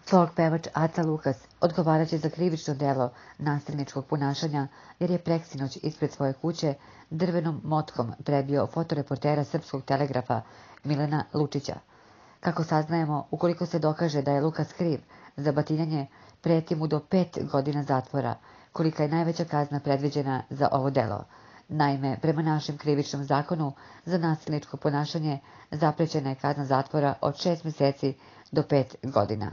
Folk pevač Aca Lukas odgovaraće za krivično delo nasilničkog ponašanja jer je preksinoć ispred svoje kuće drvenom motkom prebio fotoreportera Srpskog telegrafa Milana Lučića. Kako saznajemo, ukoliko se dokaže da je Lukas kriv za batinjanje, preti mu do 5 godina zatvora, kolika je najveća kazna predviđena za ovo delo. Naime, prema našem krivičnom zakonu, za nasilničko ponašanje zaprećena je kazna zatvora od 6 mjeseci do 5 godina.